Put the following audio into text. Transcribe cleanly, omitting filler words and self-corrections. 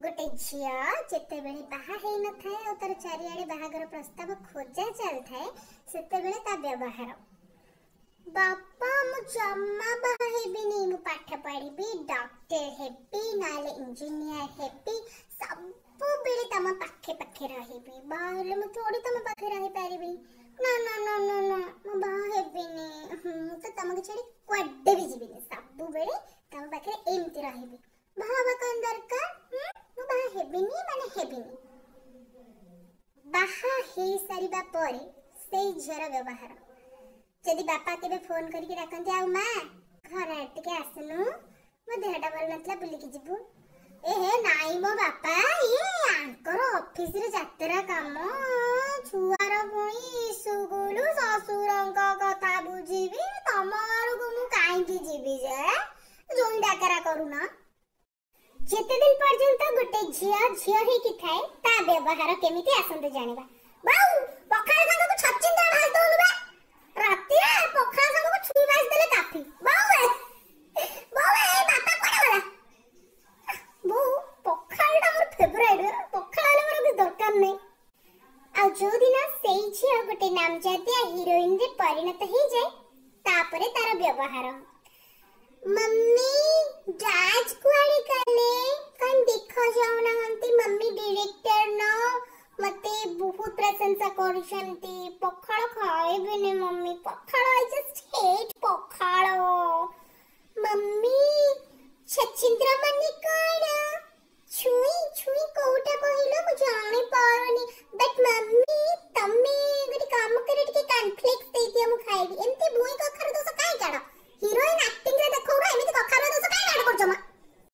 ଗୋଟେ ଝିଅ ଯେତେବେଳେ ବାହା ହେଇନଥାଏ ଆଉ ତାର ଚାରିଆଡ଼େ ବାହାଘର ପ୍ରସ୍ତାବ ଖୋଜା ଚାଲିଥାଏ, ସେତେବେଳେ ତା ବ୍ୟବହାର। ବାପା, ମୁଁ ଜମା ବାହା ହେବିନି, ମୁଁ ପାଠ ପଢ଼ିବି, ଡକ୍ଟର ହେବି, ନହେଲେ ଇଞ୍ଜିନିୟର ହେବି, ସବୁବେଳେ ତମ ପାଖେ ପାଖେ ରହିବି। ବାହା ହେଲେ ମୁଁ ଥୋଡ଼ି ତମ ପାଖେ ରହିପାରିବି? ନା ନା ନା ନା ନା, ମୁଁ ବାହା ହେବିନି। ମୁଁ ତ ତମକୁ ଛାଡ଼ି କୁଆଡ଼େ ବି ଯିବିନି, ସବୁବେଳେ ତମ ପାଖରେ ଏମିତି ରହିବି। ବାହା ହବା କଣ ଦରକାର? ମୁଁ ବାହା ହେବିନି ମାନେ ହେବିନି। ବାହା ହେଇସାରିବା ପରେ ସେଇ ଝିଅର ବ୍ୟବହାର। ଯଦି ବାପା କେବେ ଫୋନ କରିକି ଡାକନ୍ତି, ଆଉ ମା ଘର ଆଡ଼େ ଟିକେ ଆସୁନୁ, ମୋ ଦେହଟା ଭଲ ନଥିଲା, ବୁଲିକି ଯିବୁ। ଏ ହେ ନାଇଁ ମୋ ବାପା, ଇଏ ଆଙ୍କର ଅଫିସରେ ଯାତ୍ରା କାମ, ଛୁଆର ପୁଣି ସ୍କୁଲ, ଶ୍ୱଶୁରଙ୍କ କଥା ବୁଝିବି, ତମ ଘରକୁ ମୁଁ କାହିଁକି ଯିବି ଯେ? ଜୋଇଁ ଡାକରା କରୁନ। ଯେତେ ଦିନ ପର୍ଯ୍ୟନ୍ତ ଗୋଟେ ଝିଅ ଝିଅ ହେଇକି ଥାଏ, ତା ବ୍ୟବହାର କେମିତି ଆସନ୍ତୁ ଜାଣିବା। ବାଉ, ପଖାଳ ସାଙ୍ଗକୁ ଛଚିନ୍ଦ୍ରା ଭାଜି ଦଉନୁ ବେ। ରାତିରେ ପଖାଳ ସାଙ୍ଗକୁ ଛୁଇଁ ଭାଜି ଦେଲେ କାଫି। ବୋଉ ଏ, ବୋଉ ଏ, ବାପା କୁଆଡେ ଗଲା? ବୋଉ, ପଖାଳଟା ମୋର ଫେଭରାଇଟ୍, ପଖାଳ ହେଲେ ମୋର କିଛି ଦରକାର ନାହିଁ। ଆଉ ଯୋଉଦିନ ସେଇ ଝିଅ ଗୋଟେ ନାମଜାଦିଆ ହିରୋଇନରେ ପରିଣତ ହେଇଯାଏ, ତାପରେ ତାର ବ୍ୟବହାର। ମମ୍ମି, ଡାଡ୍ କୁଆଡେ ଗଲେ? କାଇଁ ଦେଖା ଯାଉନାହାନ୍ତି? ମମ୍ମି, ଡିରେକ୍ଟର ନା ମତେ ବହୁତ ପ୍ରଶଂସା କରୁଛନ୍ତି। ପଖାଳ ଖାଇବିନି mummy, pakhala, I just hate pakhala. Mummy, ଛଚିନ୍ଦ୍ରା ମାନେ